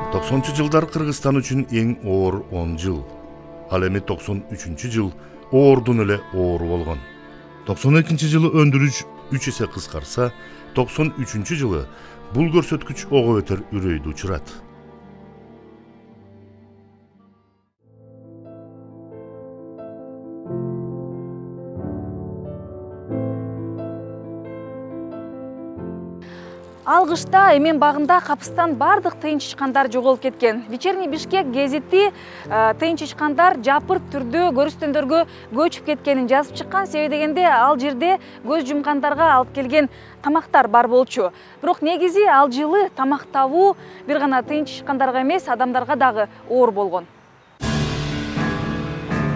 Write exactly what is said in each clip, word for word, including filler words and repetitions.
токсонунчу жылдар Кыргызстан үчүн эң оор он жыл. Ал эми токсон үчүнчү жыл оордун эле оору болгон. токсон экинчи жылы өндүрүш үч эсе кыскарса, токсон үчүнчү жылы бул көрсөткүч ого бетер үрөйдү учурат. Ал кышта Эмен багында капыстан бардык тыйын чычкандар жоголуп кеткен. Вечерний Бишкек гезити тыйын чычкандар жапырт түрдө көрүстөндөргө көчүп кеткенин жазып чыккан. Себеби дегенде ал жерде көз жумгандарга алып келген тамактар бар болчу. Бирок негизи ал жылы тамак табуу бир гана тыйын чычкандарга эмес, адамдарга дагы оор болгон.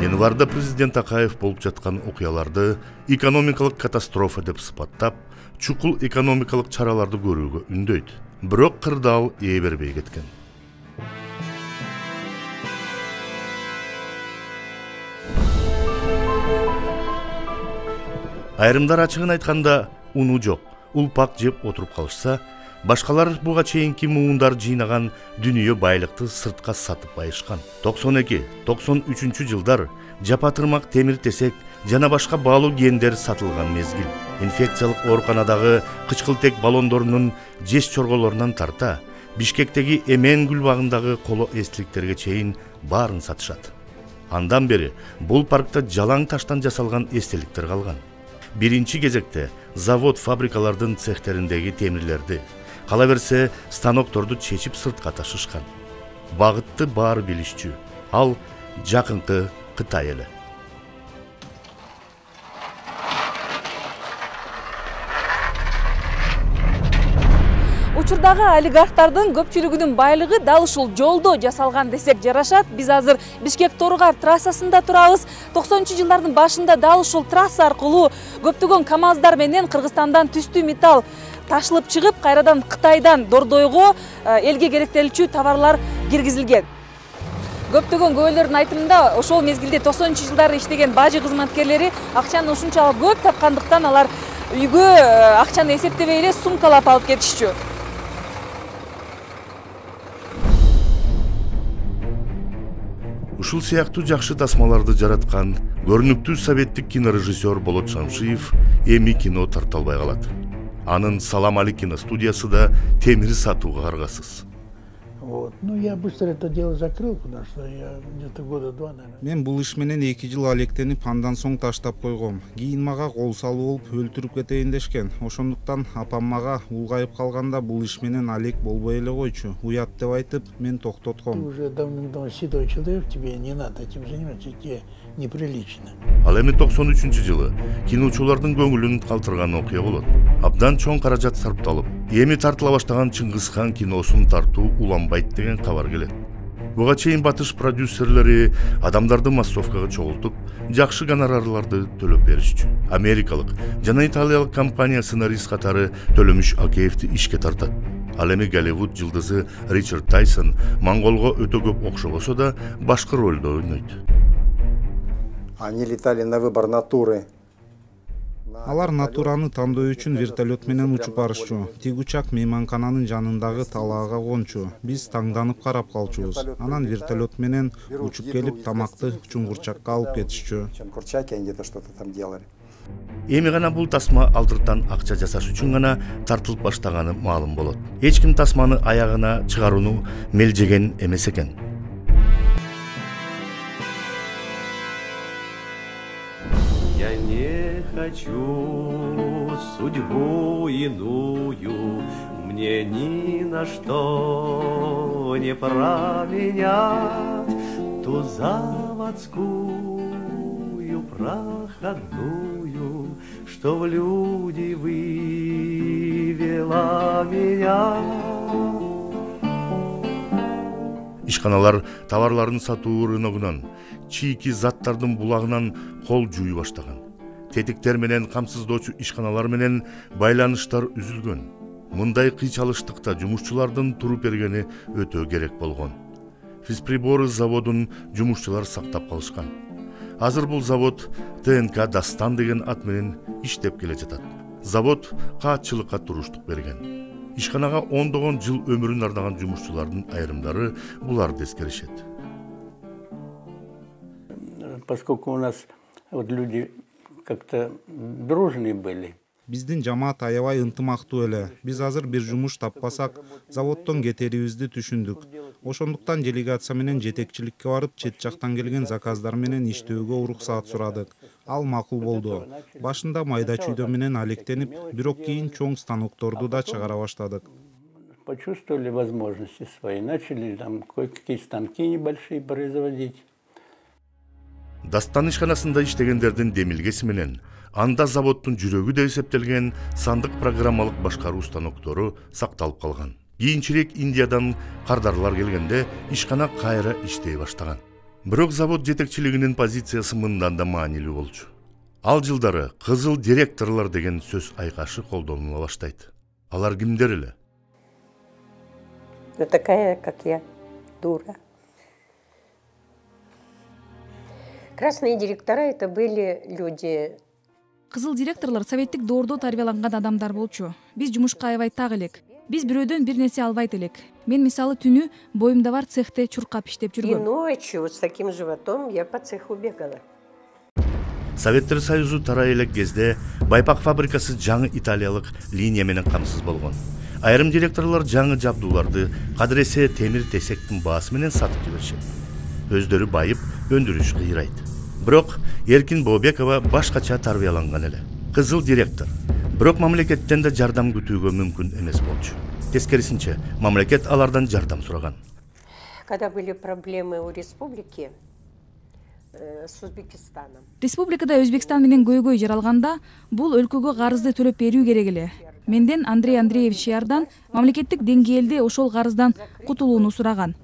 Январда президент Акаев болуп жаткан окуяларды экономикалык катастрофа деп сыпаттап, чукул экономикалык чараларды көрүүгө үндөйт. Бирок кырдаал ээ бербей кеткен. Айрымдар ачыгын айтканда уну жок, улпак жеп отуруп калышса, башкалар буга чейинки муундар жыйнаган дүнүйө байлыкты сыртка сатып байышкан. токсон эки токсон үчүнчү жылдар жапа-тырмак, темир-тесек жана башка баалуу гендер сатылган мезгил. Инфекциялык ооруканадагы кычкылтек баллондорунун жеш чорголорунан тарта, Бишкектеги Эмен гүл багындагы коло эстеликтерге чейин баарын сатышат. Андан бери бул паркта жалаң таштан жасалган эстеликтер калган. Биринчи кезекте завод, фабрикалардын цехтериндеги темирлерди, кала берсе станокторду чечип сыртка ташышкан. Багытты баары билишчү. Ал жакынкы Кытай эле. Учурдагы олигархтардын көпчүлүгүнүн байлыгы дал ушул жолдо жасалган десек жарашат. Биз азыр Бишкек-Торгар трассасында турабыз. токсонунчу жылдардын башында дал ушул трасса аркылуу көптөгөн КАМАЗдар менен Кыргызстандан түстүү металл ташылып чыгып, кайрадан Кытайдан Дордойго элге керектелчү товарлар киргизилген. Көптөгөн көбөлөрдүн айтымында ошол мезгилде токсонунчу жылдары иштеген бажы кызматкерлери акчаны ушунчалык көп тапкандыктан алар үйгө акчаны эсептебей эле сумкалап алып кетишчү. Ушул сыяктуу жакшы тасмаларды жараткан көрүнүктүү советтик кинорежиссер Болот Шамшиев эми кино тарта албай калат. Анын Салам Али киностудиясы да темир сатууга каргасыз. Вот. Ну, я быстро это дело закрыл, потому что я где-то года два, наверное. Мен бул иш менен эки жыл алектенип, андан соң таштап койгом. Кийин мага кол салуу болуп өлтүрүп кетейин дешкен. Ошондуктан апам мага улгайып калганда бул иш менен алек болбой эле койчу. Уят деп айтып, мен токтотком. Ты уже давным-давно седой человек, тебе не надо этим заниматься, тебе неприлично. Ал эми токсон үчүнчү жылы киночулардын көңүлүн калтырган окуя болот. Абдан чоң каражат сарпталып, эми тартыла баштаган Чыңгызхан киносун тартуу уланбайт деген кабар келет. Буга чейин батыш продюсерлери адамдарды массовкага чогултуп, жакшы гонорарларды төлөп беришчү. Америкалык жана италиялык компания сценарист катары Төлөмүш Акеевди ишке тартат. Ал эми Голливуд жылдызы Ричард Тайсон монголго өтө көп окшобосо да башкы ролдо ойнойт. Они летали на выбор натуры. Алар натураны тандоо үчүн вертолет менен учуп барышчу. Тиг учак мейманкананын жанындагы талаага кончу. Биз таңданып карап калчубуз. Анан вертолет менен учуп келип тамакты чуңгурчакка алып кетишчү. Чуңгурчаки они где-то что-то там делали. Эми гана бул тасма алдыртан акча жасаш үчүн гана тартылып баштаганы маалым болот. Эч ким тасманы аягына чыгарууну мелжеген эмес экен. Я не хочу судьбу иную, мне ни на что не променять ту заводскую проходную, что в люди вывела меня. Ишканалар товарларын сатуу рыногунан, чийки заттардын булагынан кол жууй баштаган. Тетиктер менен камсыздоочу ишканалар менен байланыштар үзүлгөн. Мындай кыйчалыштыкта жумушчулардын туруп бергени өтө керек болгон. Физприборы заводун жумушчулар сактап калышкан. Азыр бул завод Т Н К Дастан деген ат менен иштеп келе жатат. Завод каатчылыкка туруштук берген. ишканага ондогон жыл өмүрүн ардаган жумушчулардын айрымдары буларды эскеришет. Поскольку у нас вот люди как-то дружные были. Биздин жамаат аябай ынтымактуу эле. Биз азыр бир жумуш таппасак, заводдон кетерибизди түшүндүк. Ошондуктан делегация менен жетекчиликке барып, чет жактан келген заказдар менен иштөөгө уруксаат сурадык. Ал макул болду. Башында майда чүйдө менен алектенип, бирок кийин чоң станокторду да чыгара баштадык. Почувствовали возможности свои, начали там кое-какие станки небольшие производить. Дастан ишканасында иштегендердин демилгеси менен анда заводдун жүрөгү деп эсептелген сандык программалык башкаруу станоктору сакталып калган. Кийинчерээк Индиядан кардарлар келгенде ишкана кайра иштей баштаган. Бирок завод жетекчилигинин позициясы мындан да маанилүү болчу. Ал жылдары кызыл директорлор деген сөз айкашы колдонула баштайт. Алар кимдер эле? Ну такая, как я, дура. Красные директора это были люди. Кызыл директорлор советтик доордо тарбияланган адамдар болчу. Биз жумушка аябай так элек. Биз бирөөдөн бир нерсе албайт элек. Мен мисалы түнү боюмда бар цехте чуркап иштеп И жүргөм. ночью вот с таким животом я по цеху бегала. Советтер Союзу тарай элек кезде байпак фабрикасы жаңы италиялык линия менен камсыз болгон. Айрым директорлор жаңы жабдууларды кадыресе темир тесектин баасы менен сатып жиберишет. Өздөрү байып, өндүрүш кыйрайт. Бирок Эркин Бообекова башкача тарбияланган эле. Кызыл директор. Бирок мамлекеттен да жардам күтүүгө мүмкүн эмес болчу. Тескерисинче, мамлекет алардан жардам сураган. Когда были проблемы у республики э, с Узбекистаном. Республикада Өзбекстан менен көйгөй жаралганда, бул өлкөгө карызды төлөп берүү керек эле. Менден Андрей Андреевич Ярдан мамлекеттик деңгээлде ошол карыздан кутулууну сураган.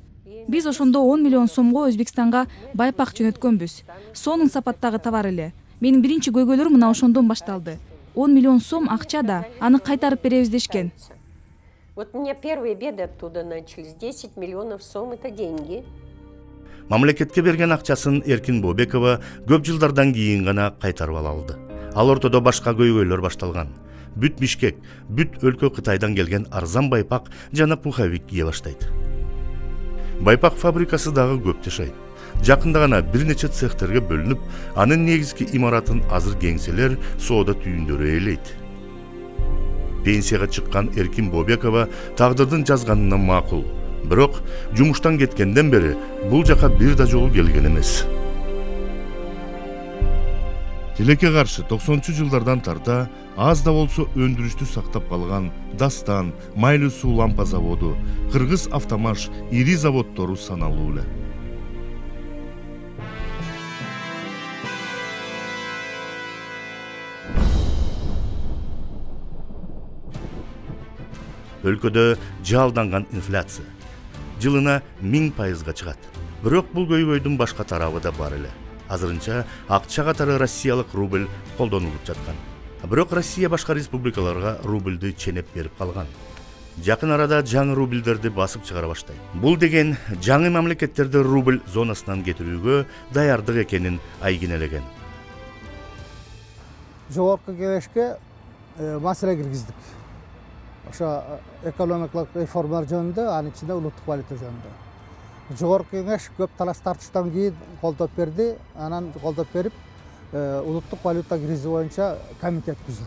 Биз ошондо он миллион сомго Өзбекстанга байпак жөнөткөнбүз. Сонун сапаттагы товар эле. Менин биринчи көйгөйлөрүм мына ошондон башталды. он миллион сом акча да, аны кайтарып беребиз дешкен. Вот у меня первые беды оттуда начались. десять миллионов сом это деньги. Мамлекетке берген акчасын Эркин Бообекова көп жылдардан кийин гана кайтарып ала алды. Ал ортодо башка көйгөйлөр башталган. Бүт Бишкек, бүт өлкө Кытайдан келген арзан байпак жана пуховик кие баштайт. Байпак фабрикасы дагы көп жашайт. Жакында гана бир нече цехтерге бөлүнүп, анын негизги имаратын азыр кеңселер, соода түйүндөрү ээлейт. Пенсияга чыккан Эркин Бообекова тагдырдын жазганына макул. Бирок жумуштан кеткенден бери бул жака бир да жолу келген эмес. Тилекке каршы токсонунчу жылдардан тарта аз да болсо өндүрүштү сактап калган Дастан, Майлуу суу лампа заводу, Кыргыз автомаш ири заводдору саналуу эле. Өлкөдө жалданган инфляция жылына миң пайызга чыгат. Бирок бул көйгөйдүн башка тарабы да бар эле. Азырынча акча катары россиялык рубль колдонулуп жаткан. Бирок Россия башка республикаларга рубльды ченеп берип калган. Жакын арада жаңы рубльдерди басып чыгара баштайт. Бул деген жаңы мамлекеттерди рубль зонасынан кетирүүгө даярдык экенин айгинелеген. Жогорку кеңешке маселе киргиздик. Ошо экономикалык реформалар жөнүндө, анын ичинде улуттук валюта жөнүндө. Жогорку кеңеш көп талаш тартыштан кийин колдоп берди. Анан колдоп берип, улуттук валюта кризи боюнча комитет түзүлдү.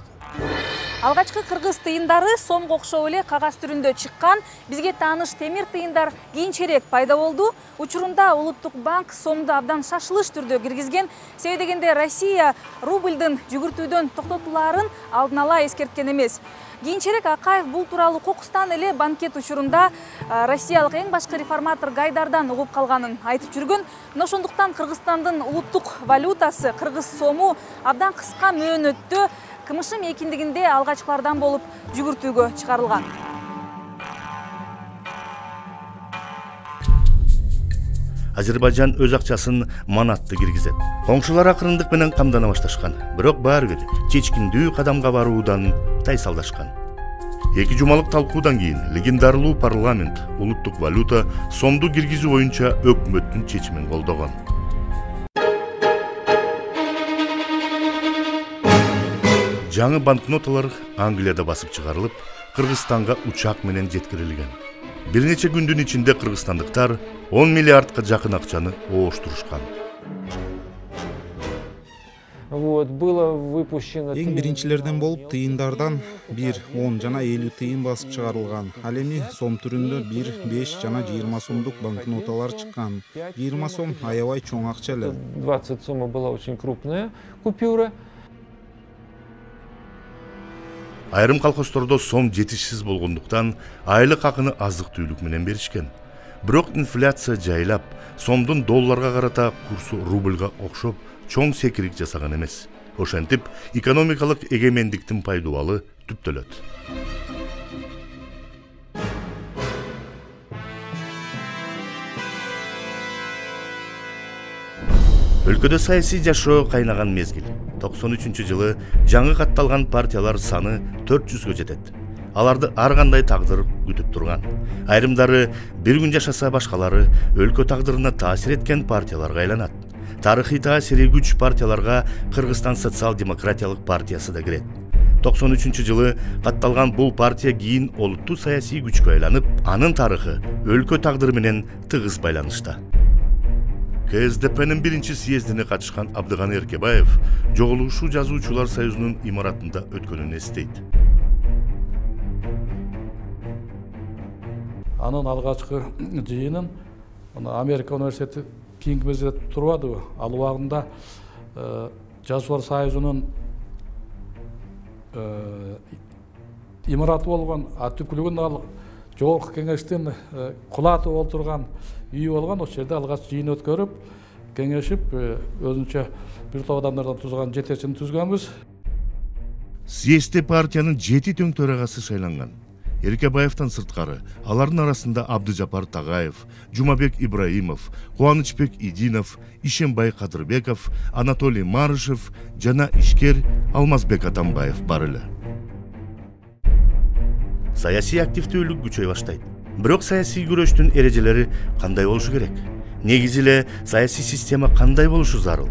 Алгачкы кыргыз тыйындары сомго окшоп эле кагаз түрүндө чыккан. Бизге тааныш темир тыйындар кийинчерээк пайда болду. Учурунда Улуттук банк сомду абдан шашылыш түрдө киргизген. Себеби дегенде Россия рубльдын жүгүртүүдөн токтотулаарын алдын ала эскерткен эмес. Кийинчерээк Акаев бул тууралуу кокустан эле банкет учурунда россиялык эң башкы реформатор Гайдардан угуп калганын айтып жүргөн. Мына ошондуктан Кыргызстандын улуттук валютасы кыргыз сому абдан кыска мөөнөттө кымышым экиндигинде алгачкылардан болуп жүгүртүүгө чыгарылган. Азербайжан өз акчасын манатты киргизет. Коңшулар акырындык менен камдана башташкан. Бирок баары бир чечкиндүү кадамга баруудан тайсалдашкан. Эки жумалык талкуудан кийин легендарлуу парламент улуттук валюта сомду киргизүү боюнча өкмөттүн чечимин колдогон. Жаңы банкноталар Англияда басып чыгарылып, Кыргызстанга учак менен жеткирилген. Бир нече күндүн ичинде кыргызстандыктар он миллиардка жакын акчаны ооштурушкан. Эң биринчилерден болуп тыйындардан бир он жана элүү тыйын басып чыгарылган. Ал эми сом түрүндө бир, беш жана жыйырма сомдук банкноталар чыккан. жыйырма сом аябай чоң акча эле. двадцать сом была очень крупная купюра. Айрым колхоздордо сом жетишсиз болгондуктан айлык акыны азык-түлүк менен беришкен. Бирок инфляция жайлап, сомдун долларга карата курсу рубльга окшоп чоң секирик жасаган эмес. Ошентип, экономикалык эгемендиктин пайдубалы түптөлөт. Өлкөдө саясий жашоо кайнаган мезгил. токсон үчүнчү жылы жаңы катталган партиялар саны төрт жүзгө жетет. Аларды ар кандай тагдыр күтүп турган. Айрымдары бир күн жашаса, башкалары өлкө тагдырына таасир эткен партияларга айланат. Тарыхый таасири күч партияларга Кыргызстан социал-демократиялык партиясы да кирет. токсон үчүнчү жылы катталган бул партия кийин олуттуу саясий күчкө айланып, анын тарыхы өлкө тагдыры менен тыгыз байланышта. ка эс дэ пэнин биринчи съездине катышкан Абдыганы Эркебаев Жогулушуу жазуучулар союзунун имаратында өткөнүн эстейт. Анын алгачкы жыйынын Америка университети Кингмезде турбадыбы? Ал убагында жазуучулар союзунун имараты болгон, түпкүлүгүн ал жогорку кеңештин кулаты болуп турган үй болгон. Ошол жерде алгач жыйын өткөрүп, кеңешип, өзүнчө бир топ адамдардан тузган жетекчини түзгөнбүз. Съездде партиянын жети төң төрагасы шайланган. Эркебаевтан сырткары алардын арасында Абдыжапар Тагаев, Жумабек Ибраимов, Кубанычбек Идинов, Ишембай Кадырбеков, Анатолий Марышев жана ишкер Алмазбек Атамбаев бар эле. Саясий активдүүлүк күчөй баштайт. Бирок саясий күрөштүн эрежелери кандай болушу керек? Негизи эле саясий система кандай болушу зарыл?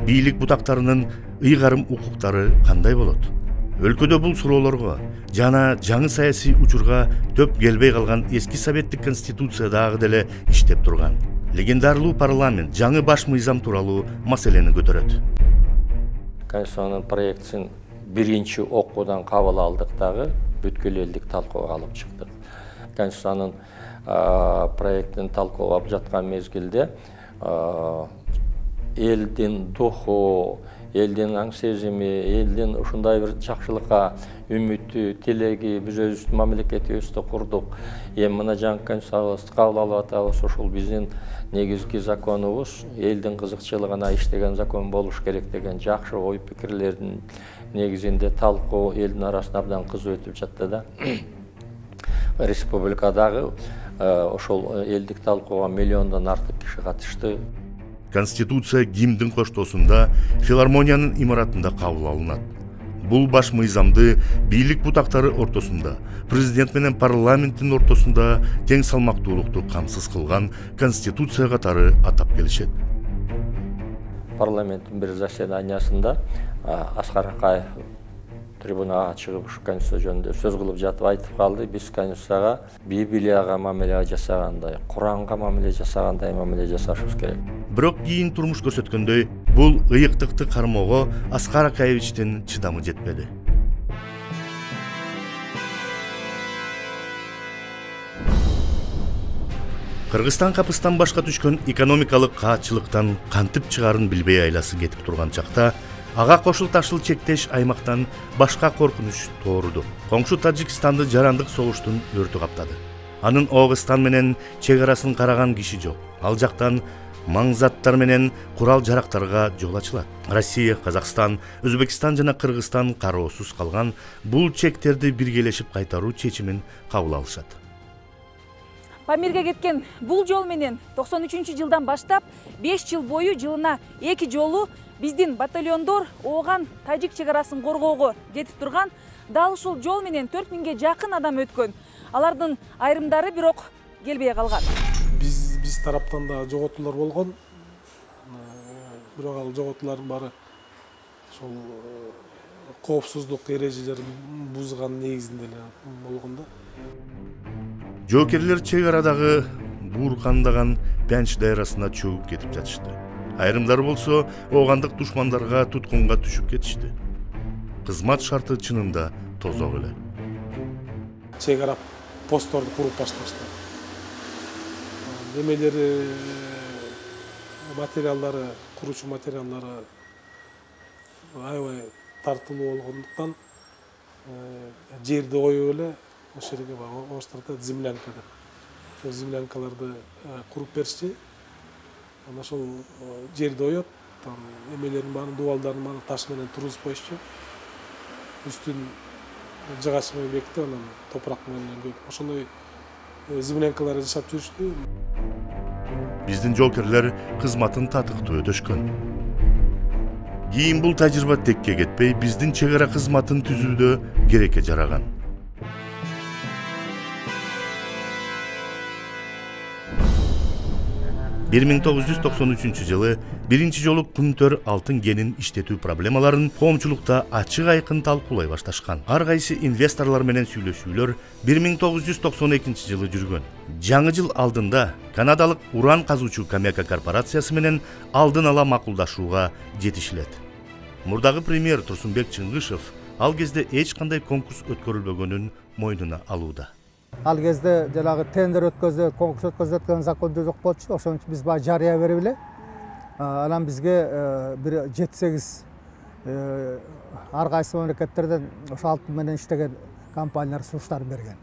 Бийлик бутактарынын ыйгарым укуктары кандай болот? Өлкөдө бул суроолорго жана жаңы саясий учурга төп келбей калган эски советтик конституция дагы деле иштеп турган. Легендарлуу парламент жаңы баш мыйзам тууралуу маселени көтөрөт. Конституциянын проектин биринчи окуудан кабыл алдык дагы бүткүл элдик талкууга алып чыктык. Конституциянын проектин талкуулап жаткан мезгилде элдин духу, элдин аң сезими, элдин ушундай бир жакшылыкка үмүтү, тилеги, биз өзүбүздүн мамлекетибизди курдук. Эми мына жаңы конституциябызды кабыл алып атабыз, ушул биздин негизги законубуз, элдин кызыкчылыгына иштеген закон болуш керек деген жакшы ой пикирлердин негизинде талкуу элдин арасында абдан кызуу өтүп жатты да. Республикадагы ошол элдик талкууга миллиондон артык киши катышты. Конституция гимндин коштоосунда филармониянын имаратында кабыл алынат. Бул баш мыйзамды бийлик бутактары ортосунда, президент менен парламенттин ортосунда тең салмактуулукту камсыз кылган конституция катары атап келишет. Парламенттин бир заседаниясында Аскар Акаев трибунага чыгып ушу конституция жөнүндө сөз кылып жатып айтып калды: биз конституцияга Библияга мамиле жасагандай, Куранга мамиле жасагандай мамиле жасашыбыз керек. Бирок кийин турмуш көрсөткөндөй, бул ыйыктыкты кармоого Аскар Акаевичтин чыдамы жетпеди. Кыргызстан капыстан башка түшкөн экономикалык каатчылыктан кантип чыгарын билбей айласы кетип турган чакта ага кошул ташыл чектеш аймактан башка коркунуч тооруду. Коңшу Тажикстанды жарандык согуштун өртү каптады. Анын Оогыстан менен чек арасын караган киши жок. Ал жактан маңзаттар менен курал жарактарга жол ачылат. Россия, Казакстан, Өзбекстан жана Кыргызстан кароосуз калган бул чектерди биргелешип кайтаруу чечимин кабыл алышат. Памирге кеткен бул жол менен токсон үчүнчү жылдан баштап беш жыл бою жылына эки жолу биздин батальондор ооган тажик чек арасын коргоого кетип турган. Дал ушул жол менен төрт миңге жакын адам өткөн. Алардын айрымдары бирок келбей калган. Биз биз тараптан да жоготуулар болгон. Бирок ал жоготуулардын баары ошол коопсуздук эрежелерин бузган негизинде эле болгон да. Жоокерлер чек арадагы бууркандаган Пянч дайрасына чөгүп кетип жатышты. Айрымдары болсо оогандык душмандарга туткунга түшүп кетишти. Кызмат шарты чынында тозок эле. Чек ара постторду куруп башташты. Немелери, материалдары, куручу материалдары аябай тартылуу болгондуктан жерди коюп эле ошол жерге орустарда землянка деп. Ошол землянкаларды куруп беришти. Анан ошол жерди оёт, там эмелердин баарын, дубалдардын баарын таш менен тургузуп коюшчу. Үстүн жыгач менен бекитип, анан топурак менен көйүп ошондой землянкалар жашап жүрүштү. Биздин жоокерлер кызматын татыктуу өтөшкөн. Кийин бул тажрыйба текке кетпей, биздин чек ара кызматын түзүүдө керекке жараган. бир миң тогуз жүз токсон үчүнчү жылы биринчи жолу Күмтөр алтын кенин иштетүү проблемаларын коомчулукта ачык айкын талкуулай башташкан. Ар кайсы инвесторлор менен сүйлөшүүлөр бир миң тогуз жүз токсон экинчи жылы жүргөн. Жаңы жыл алдында канадалык уран казуучу Камека корпорациясы менен алдын ала макулдашууга жетишилет. Мурдагы премьер Турсунбек Чыңгышев ал кезде эч кандай конкурс өткөрүлбөгөнүн мойнуна алууда. Ал кезде жанагы тендер өткөзө, конкурс өткөзө өткөн закондо жок болчу. Ошон үчүн биз баа жарыя берип эле. Анан бизге бир жети сегиз ар кайсы мамлекеттерден ошо алтын менен иштеген компаниялар сунуштарын берген.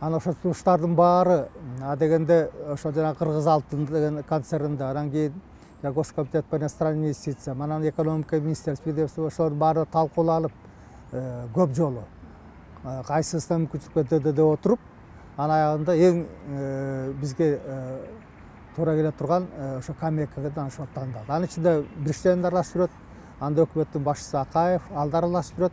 Анан ошо сунуштардын баары а дегенде ошо жанагы Кыргыз алтын деген концернде, анан кийин Госкомитет по иностранным инвестициям, анан экономика министерствосу ошолордун баары талкууланып көп жолу кайсысына мүмкүнчүлүк берди деп отуруп, анан аягында эң бизге туура келе турган ошо Камекага ошо тандалды. Анын ичинде Бирштейн аралашып жүрөт, анда өкмөттүн башчысы Акаев, ал да аралашып жүрөт.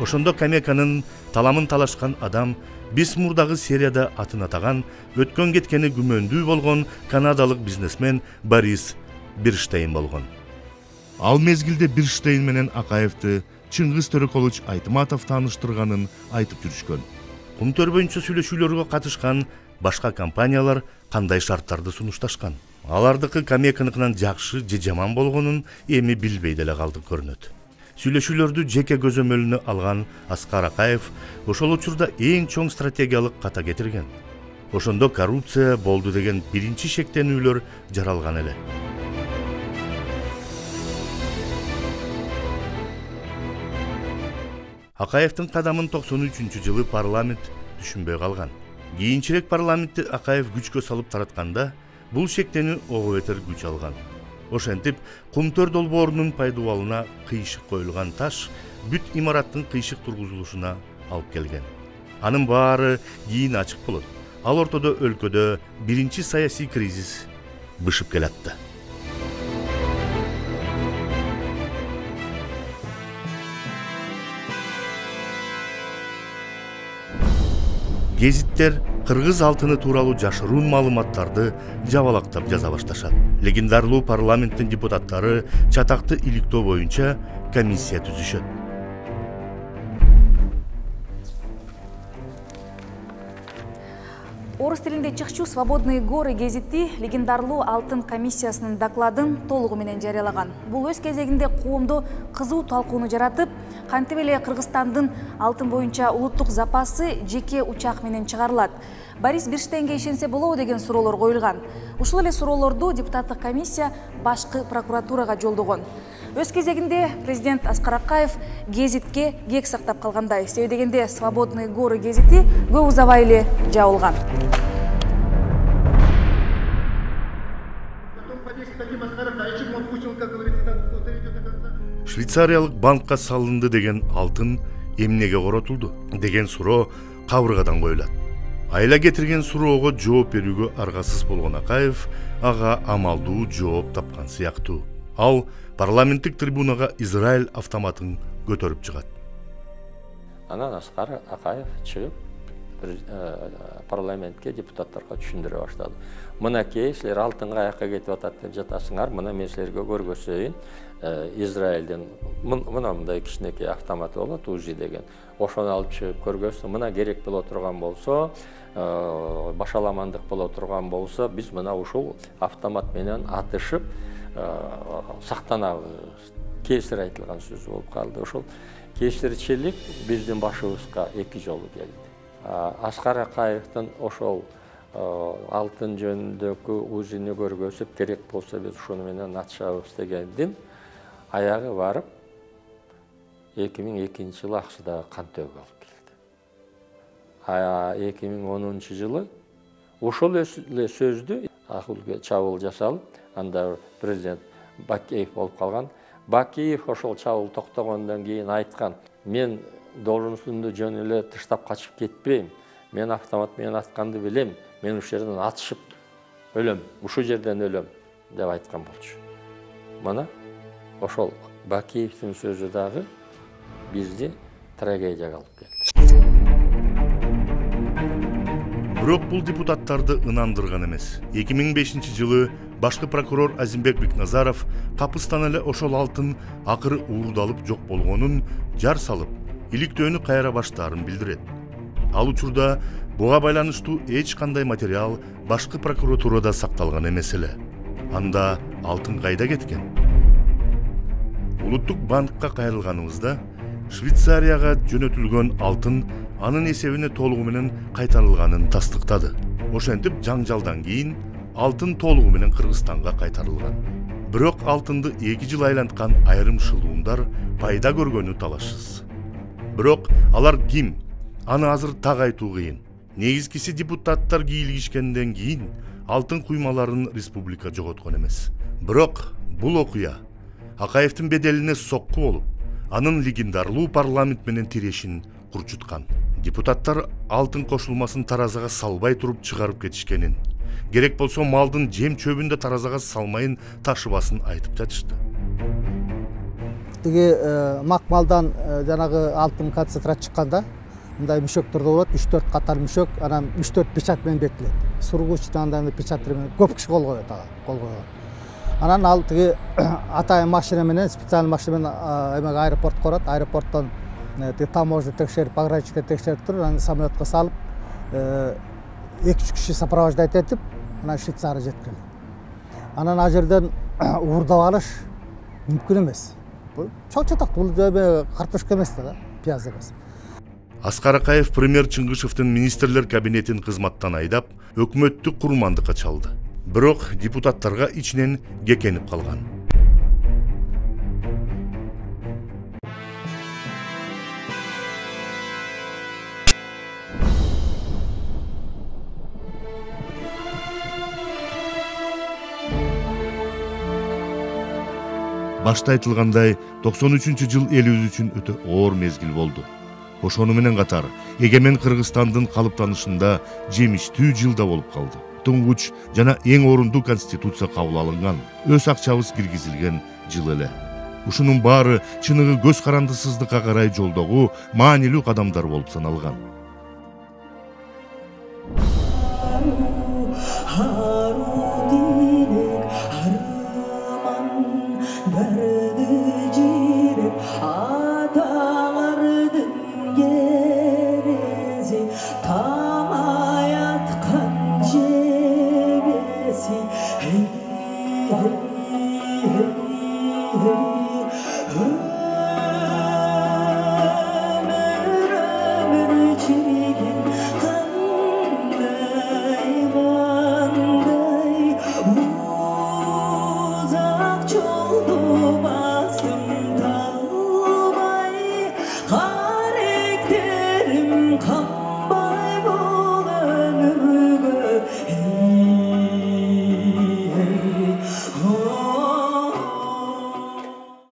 Ошондо Камеканын таламын талашкан адам биз мурдагы серияда атын атаган, өткөн кеткени күмөндүү болгон канадалык бизнесмен Борис Бирштейн болгон. Ал мезгилде Бирштейн менен Акаевди Чыңгыз Төрөкулович Айтматов тааныштырганын айтып жүрүшкөн. Кумтөр боюнча сүйлөшүүлөргө катышкан башка компаниялар кандай шарттарды сунушташкан? Алардыкы Камеканыкынан жакшы же жаман болгонун эми билбей деле калдык көрүнөт. Сүйлөшүүлөрдү жеке көзөмөлүнө алган Аскар Акаев ошол учурда эң чоң стратегиялык ката кетирген. Ошондо коррупция болду деген биринчи шектенүүлөр жаралган эле. Акаевдин кадамын токсон үчүнчү жылы парламент түшүнбөй калган. Кийинчерээк парламентти Акаев күчкө салып таратканда бул шектенүү ого бетер күч алган. Ошентип, Кумтөр долбоорунун пайдубалына кыйшык коюлган таш бүт имараттын кыйшык тургузулушуна алып келген. Анын баары кийин ачык болот. Ал ортодо өлкөдө биринчи саясий кризис бышып келатты. Гезиттер Кыргыз алтыны тууралуу жашыруун маалыматтарды жабалактап жаза башташат. Легендарлуу парламенттин депутаттары чатакты иликтөө боюнча комиссия түзүшөт. Орус тилинде чыкчу «Свободные горы» гезити легендарлуу алтын комиссиясынын докладын толугу менен жарыялаган. Бул өз кезегинде коомдо кызуу талкууну жаратып, кантип эле Кыргызстандын алтын боюнча улуттук запасы жеке учак менен чыгарылат. Борис Бирштейнге ишенсе болобу деген суроолор коюлган. Ушул эле суроолорду депутаттык комиссия башкы прокуратурага жолдогон. Өз кезегинде президент Аскар Акаев гезитке кек сактап калгандай. Себеби дегенде «Свободные горы» гезити көп узабай эле жабылган. Швейцариялык банкка салынды деген алтын эмнеге коротулду деген суроо кабыргадан коюлат. Айла кетирген суроого жооп берүүгө аргасыз болгон Акаев ага амалдуу жооп тапкан сыяктуу. Ал парламенттик трибунага Израиль автоматын көтөрүп чыгат. Анан Аскар Акаев чыгып парламентке депутаттарга түшүндүрө баштады. Мынакей силер алтын каякка кетип атат деп жатасыңар, мына мен силерге көргөзөйүн. Израилден мына мындай кичинекей автомат болот, УЗИ деген. Ошону алып чыгып көргөзсө, мына керек боло турган болсо, башаламандык боло турган болсо, биз мына ушул автомат менен атышып сактанабыз. Кесир айтылган сөз болуп калды. Ошол кесирчилик биздин башыбызга эки жолу келди. Аскар Акаевдин ошол алтын жөнүндөгү УЗИни көргөзүп, керек болсо биз ушуну менен атышабыз дегендин аягы барып эки миң экинчи жылы Аксудагы кан төгүү алып келди. А эки миң онунчу жылы ошол эле сөздү Акулге чабуул жасалып, анда президент Бакеев болуп калган. Бакеев ошол чабуул токтогондон кийин айткан: "Мен должностумду жөн эле тыштап качып кетпейм. Мен автомат менен атканды билем. Мен ушул жерден атышып өлөм, ушул жерден өлөм" деп айткан болчу. Мына ошол Бакеевдин сөзү дагы бизди трагедияга алып келди. Бирок бул депутаттарды ынандырган эмес. эки миң бешинчи жылы башкы прокурор Азимбек Бекназаров капыстан эле ошол алтын акыры уурдалып жок болгонун жар салып, иликтөөнү кайра баштаарын билдирет. Ал учурда буга байланыштуу эч кандай материал башкы прокуратурада сакталган эмес эле. Анда алтын кайда кеткен? Улуттук банкка кайрылганыбызда Швейцарияга жөнөтүлгөн алтын анын эсебине толугу менен кайтарылганын тастыктады. Ошентип жаңжалдан кийин алтын толугу менен Кыргызстанга кайтарылган. Бирок алтынды эки жыл айланткан айрым шылуундар пайда көргөнү талашсыз. Бирок алар ким? Аны азыр так айтуу кыйын. Негизгиси депутаттар кийлигишкенден кийин алтын куймаларын республика жоготкон эмес. Бирок бул окуя Акаевдин беделине сокку болуп, анын легендарлуу парламент менен тирешин курчуткан. Депутаттар алтын кошулмасын таразага салбай туруп чыгарып кетишкенин, керек болсо малдын жем чөбүндө таразага салмайын ташыбасын айтып жатышты. Тиги макмалдан жанагы алтын концентрат чыкканда мындай мүшөктөрдө болот, үч төрт катар мүшөк, анан үч төрт печать менен бекитилет. Сургуч андай печаттар менен көп киши кол коет ага, кол койгон. Анан ал тиги атайын машина менен, специалдуу машина менен эмеге аэропортко барат, аэропорттон тиги таможня текшерип, пограничниктер текшерип туруп, анан самолетко салып, эки үч киши сопровождать этип, анан Швейцария жеткирилет. Анан ал жерден уурдап алыш мүмкүн эмес. Бул чоң-чатак, бул эме картошка эмес да, пияз эмес. Аскар Акаев премьер Чыңгышевдин министрлер кабинетин кызматтан айдап, өкмөттүк курмандыкка чалды. Бирок депутаттарга ичинен кекенип калган. Башта айтылгандай, токсон үчүнчү жыл элибиз үчүн өтө оор мезгил болду. Ошону менен катар эгемен Кыргызстандын калыптанышында жемиштүү жыл да болуп калды. Туңгуч жана эң орунду конституция кабыл алынган, өз акчабыз киргизилген жыл эле. Ушунун баары чыныгы көз карандысыздыкка карай жолдогу маанилүү кадамдар болуп саналган. Hey, hey, hey, hey.